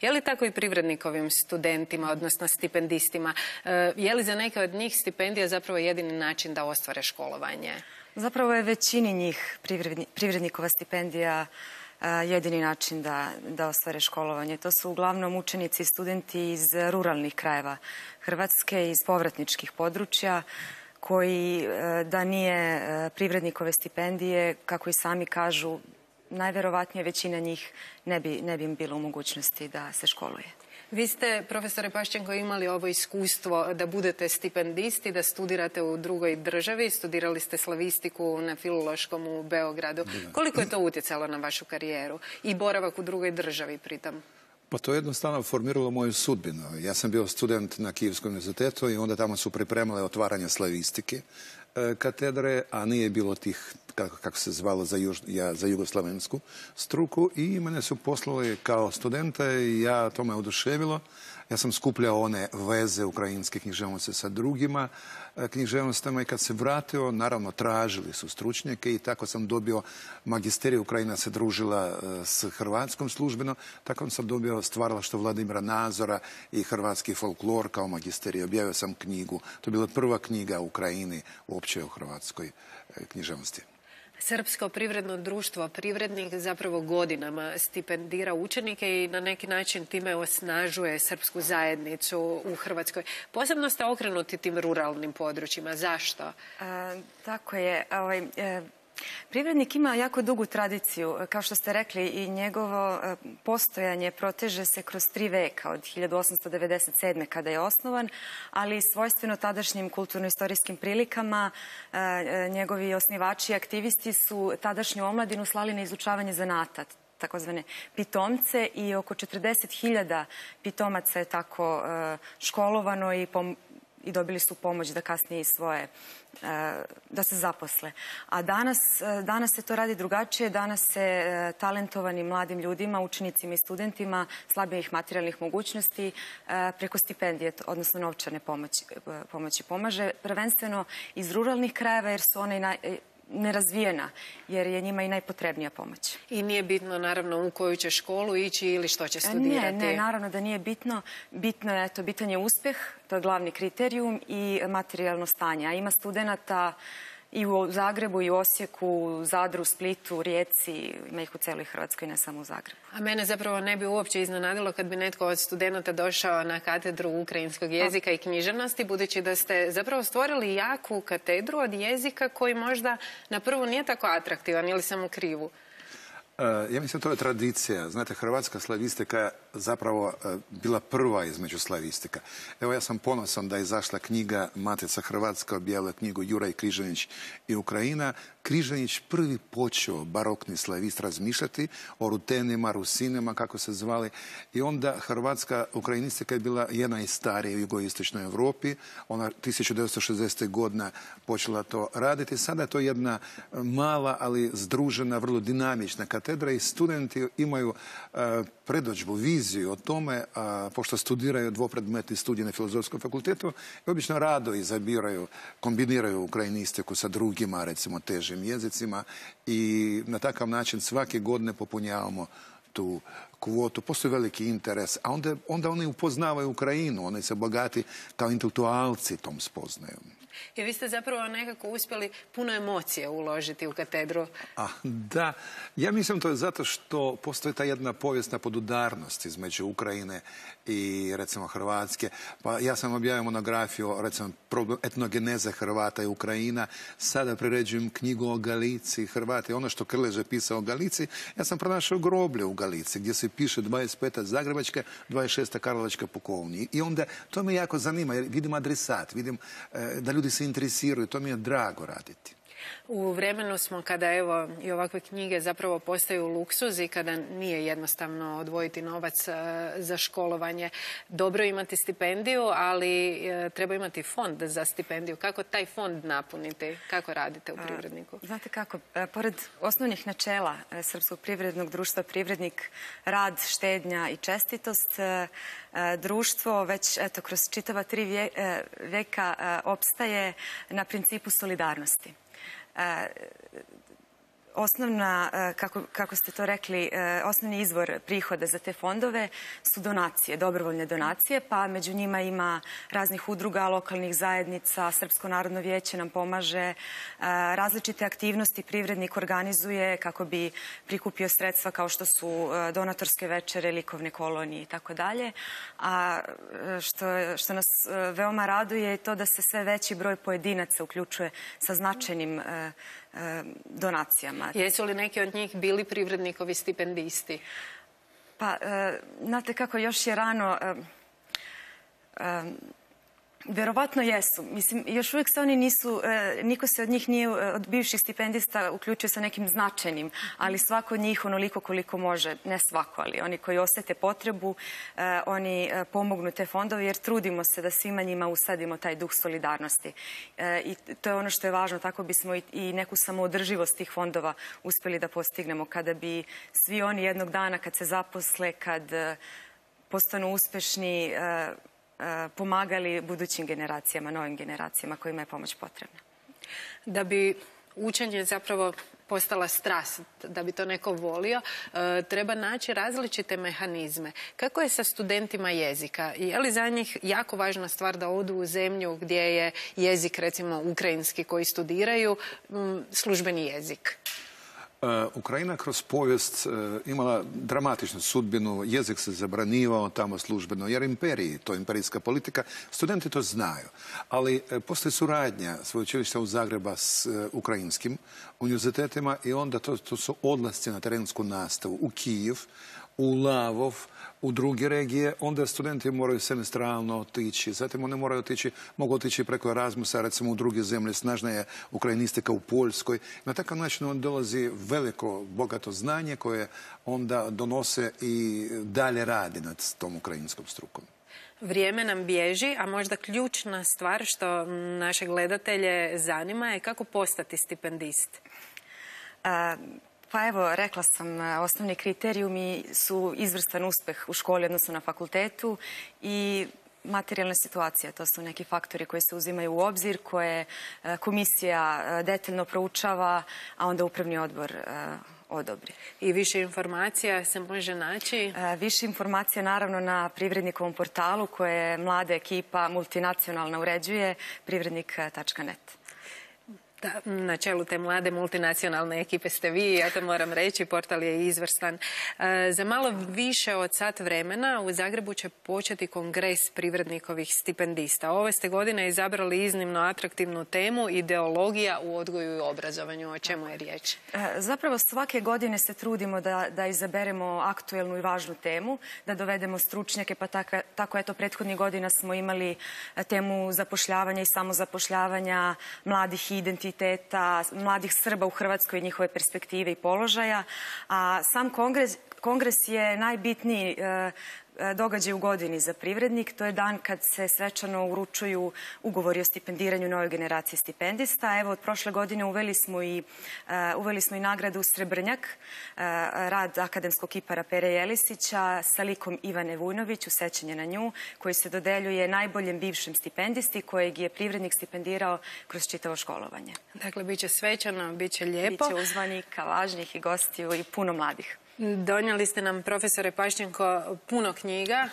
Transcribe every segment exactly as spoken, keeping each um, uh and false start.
Je li tako i privrednikovim studentima, odnosno stipendistima? Je li za neke od njih stipendija zapravo jedini način da ostvare školovanje? Zapravo je većini njih privrednikova stipendija jedini način da, da ostvare školovanje. To su uglavnom učenici i studenti iz ruralnih krajeva Hrvatske, iz povratničkih područja, koji da nije privrednikove stipendije, kako i sami kažu, najverovatnije većina njih ne bi, ne bi im bilo u mogućnosti da se školuje. Vi ste, profesore Paščenko, imali ovo iskustvo da budete stipendisti, da studirate u drugoj državi. Studirali ste slavistiku na Filološkom u Beogradu. Koliko je to utjecalo na vašu karijeru i boravak u drugoj državi pritom? Pa to je jednostavno formiralo moju sudbinu. Ja sam bio student na Kijevskom univerzitetu i onda tamo su pripremale otvaranje slavistike katedre, a nije bilo tih, kako, kako se zvalo, za, juž, ja, za jugoslavensku struku, i mene su poslali kao studenta i ja to me oduševilo. Ja sam skupljao one veze ukrajinske književnosti sa drugima književnostima i kad se vratio, naravno tražili su stručnjake i tako sam dobio magisterij. Ukrajina se družila s Hrvatskom službeno, tako sam dobio stvaralaštvo Vladimira Nazora i hrvatski folklor kao magisterij. Objavio sam knjigu, to je bila prva knjiga u Ukrajini uopće u hrvatskoj književnosti. Srpsko privredno društvo Privrednik zapravo godinama stipendira učenike i na neki način time osnažuje srpsku zajednicu u Hrvatskoj. Posebno ste okrenuti tim ruralnim područjima. Zašto? E, tako je. Ovaj, e... Privrednik ima jako dugu tradiciju, kao što ste rekli, i njegovo postojanje proteže se kroz tri veka, od hiljadu osamsto devedeset sedme. kada je osnovan, ali svojstveno tadašnjim kulturno-istorijskim prilikama njegovi osnivači i aktivisti su tadašnju omladinu slali na izučavanje zanata, takozvane pitomce, i oko četrdeset hiljada pitomaca je tako školovano i pom i dobili su pomoć da kasnije i svoje, da se zaposle. A danas, danas se to radi drugačije. Danas se talentovanim mladim ljudima, učenicima i studentima slabijih materijalnih mogućnosti preko stipendije, odnosno novčane pomoći, pomoći pomaže. Prvenstveno iz ruralnih krajeva, jer su one naj, nerazvijena, jer je njima i najpotrebnija pomoć. I nije bitno, naravno, u koju će školu ići ili što će studirati? Ne, ne, naravno da nije bitno. Bitno je, to bitan je uspjeh, to je glavni kriterijum, i materijalno stanje. A ima studenata i u Zagrebu, i u Osijeku, u Zadru, Splitu, Rijeci, ima ih u cijeloj Hrvatskoj, ne samo u Zagrebu. A mene zapravo ne bi uopće iznenadilo kad bi netko od studenata došao na katedru ukrajinskog jezika i književnosti, budući da ste zapravo stvorili jaku katedru od jezika koji možda na prvu nije tako atraktivan, ili sam u krivu? Ja mislim, to je tradicija. Znate, hrvatska slavistika je zapravo bila prva između slavistika. Evo, ja sam ponosan da je izašla knjiga Matica Hrvatska, objavila knjigu Juraj Križanić i Ukrajina. Križanić prvi počeo, barokni slavist, razmišljati o rutenima, rusinima, kako se zvali. I onda hrvatska ukrajinistika je bila jedna najstarija u jugoistočnoj Europi. Ona tisuću devetsto šezdesete. godine počela to raditi. Sada je to jedna mala, ali združena, vrlo dinamična katedra i studenti imaju uh, predodžbu, viziju o tome, uh, pošto studiraju dvopredmetni studij na Filozofskom fakultetu, i obično rado izabiraju, kombiniraju ukrajinistiku sa drugima, recimo, težim jezicima, i na takav način svake godine popunjavamo tu kvotu. Postoji veliki interes, a onda, onda oni upoznavaju Ukrajinu, oni se bogati kao intelektualci tom spoznajom. I vi ste zapravo nekako uspjeli puno emocije uložiti u katedru. A, da, ja mislim to je zato što postoji ta jedna povijesna podudarnost između Ukrajine i, recimo, Hrvatske. Pa ja sam objavio monografiju, recimo, etnogeneze Hrvata i Ukrajina. Sada priređujem knjigu o Galiciji, Hrvati. Ono što Krlež je pisao o Galiciji, ja sam pronašao groblje u Galiciji, gdje se piše dvadeset peta Zagrebačka, dvadeset šesta Karlovačka pukovnija. I onda to me jako zanima, jer vidim adresat, vidim e, da ljudi se interesiraju, to mi je drago raditi. U vremenu smo kada, evo, i ovakve knjige zapravo postaju luksuz i kada nije jednostavno odvojiti novac za školovanje. Dobro imati stipendiju, ali treba imati fond za stipendiju. Kako taj fond napuniti? Kako radite u Privredniku? Znate kako, pored osnovnih načela Srpskog privrednog društva Privrednik, rad, štednja i čestitost, društvo već, eto, kroz čitava tri veka opstaje na principu solidarnosti. osnovna, kako, kako ste to rekli, osnovni izvor prihoda za te fondove su donacije, dobrovoljne donacije, pa među njima ima raznih udruga, lokalnih zajednica, Srpsko narodno vijeće nam pomaže, različite aktivnosti privrednik organizuje kako bi prikupio sredstva kao što su donatorske večere, likovne kolonije i tako dalje. A što, što nas veoma raduje je to da se sve veći broj pojedinaca uključuje sa značajnim donacijama. Jesu li neki od njih bili privrednikovi stipendisti? Pa, znate kako, još je rano... Vjerovatno jesu. Mislim, još uvijek se oni nisu, niko se od njih nije, od bivših stipendista uključio sa nekim značajnim, ali svako od njih onoliko koliko može, ne svako, ali oni koji osjete potrebu, oni pomognu te fondove jer trudimo se da svima njima usadimo taj duh solidarnosti. I to je ono što je važno, tako bismo i neku samoodrživost tih fondova uspjeli da postignemo. Kada bi svi oni jednog dana kad se zaposle, kad postanu uspešni, pomagali budućim generacijama, novim generacijama kojima je pomoć potrebna. Da bi učenje zapravo postala strast, da bi to neko volio, treba naći različite mehanizme. Kako je sa studentima jezika? Je li za njih jako važna stvar da odu u zemlju gdje je jezik, recimo ukrajinski, koji studiraju, službeni jezik? Ukrajina kroz povijest imala dramatičnu sudbinu, jezik se zabranivao tamo službeno, jer imperiji, to je imperijska politika, studenti to znaju. Ali postoji suradnja sveučilišta u Zagreba s ukrajinskim univerzitetima i onda to, to su odlasci na terensku nastavu u Kijev, u Lavov, u druge regije, onda studenti moraju semestralno otići. Zatim oni moraju otići, mogu otići preko Erasmusa, recimo u druge zemlje, snažna je ukrajinistika u Poljskoj. Na takav način on dolazi veliko, bogato znanje koje onda donose i dalje radi nad tom ukrajinskom strukom. Vrijeme nam bježi, a možda ključna stvar što naše gledatelje zanima je kako postati stipendist. A... Pa evo, rekla sam, osnovni kriterijumi su izvrstan uspjeh u školi, odnosno na fakultetu i materijalna situacija. To su neki faktori koji se uzimaju u obzir, koje komisija detaljno proučava, a onda upravni odbor odobri. I više informacija se može naći? Više informacija naravno na Privrednikovom portalu koje mlada ekipa multinacionalna uređuje, privrednik tačka net. Da, na čelu te mlade multinacionalne ekipe ste vi, ja to moram reći, portal je izvrstan. E, za malo više od sat vremena u Zagrebu će početi kongres privrednikovih stipendista. Ove ste godine izabrali iznimno atraktivnu temu, ideologija u odgoju i obrazovanju. O čemu je riječ? E, zapravo svake godine se trudimo da, da izaberemo aktuelnu i važnu temu, da dovedemo stručnjake, pa tako, tako eto prethodnih godina smo imali temu zapošljavanja i samozapošljavanja mladih identiteta, mladih Srba u Hrvatskoj i njihove perspektive i položaja. A sam kongres, kongres je najbitniji e, događaj u godini za privrednik. To je dan kad se svečano uručuju ugovori o stipendiranju novoj generaciji stipendista. Evo, od prošle godine uveli smo i, uh, uveli smo i nagradu Srebrnjak, uh, rad akademskog kipara Pere Jelisića sa likom Ivane Vujnović, u sećanje na nju, koji se dodeljuje najboljem bivšem stipendisti kojeg je privrednik stipendirao kroz čitavo školovanje. Dakle, bit će svečano, bit će lijepo. Biće uzvanika, važnih i gostiju i puno mladih. Donijeli ste nam, profesore Paščenko, puno knjiga.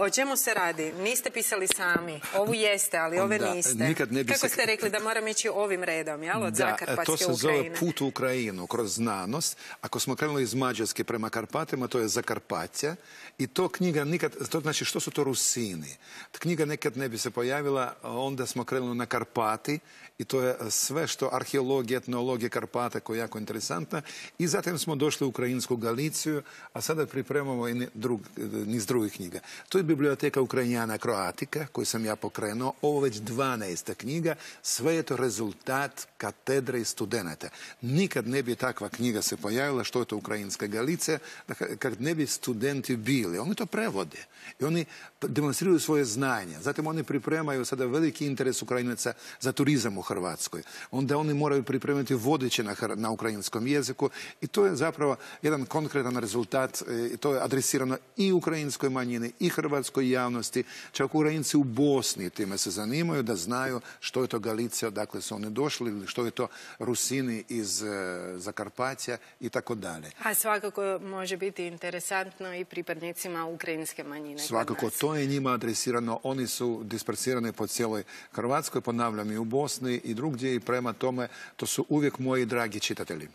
O čemu se radi? Niste pisali sami. Ovu jeste, ali ove da, niste. Ne Kako se... ste rekli da moram ići ovim redom, jel? Od da, Zakarpatske to se Ukrajine. zove Put u Ukrajinu kroz znanost. Ako smo krenuli iz Mađarske prema Karpatima, to je Zakarpatja. I to knjiga nikad, to znači što su to Rusini. Ta knjiga nekad ne bi se pojavila, onda smo krenuli na Karpati i to je sve što arheologija, etnologija Karpata koja je jako interesantna. I zatim smo došli u Ukrajinsku Galiciju, a sada pripremamo i drug, niz drugih knjiga. To je biblioteka Ukrajinjana Kroatika, koju sam ja pokrenuo. Ovo već dvanaesta knjiga. Sve je to rezultat katedre i studenata. Nikad ne bi takva knjiga se pojavila, što je to Ukrajinska Galicija, kad ne bi studenti bili. Oni to prevode i oni demonstriraju svoje znanje. Zatim oni pripremaju sada veliki interes Ukrajinaca za turizam u Hrvatskoj. Onda oni moraju pripremiti vodiče na, na ukrajinskom jeziku i to je zapravo jedan konkretan rezultat. To je adresirano i ukrajinskoj manjini i hrvatskoj javnosti. Čak Ukrajinci u Bosni time se zanimaju da znaju što je to Galicija, odakle su oni došli, ili što je to Rusini iz Zakarpatja i tako dalje. A svakako može biti interesantno i pripadnicima ukrajinske manjine. Svakako, to je njima adresirano. Oni su dispersirani po cijeloj Hrvatskoj, ponavljam, i u Bosni i drugdje, i prema tome to su uvijek moji dragi čitatelji.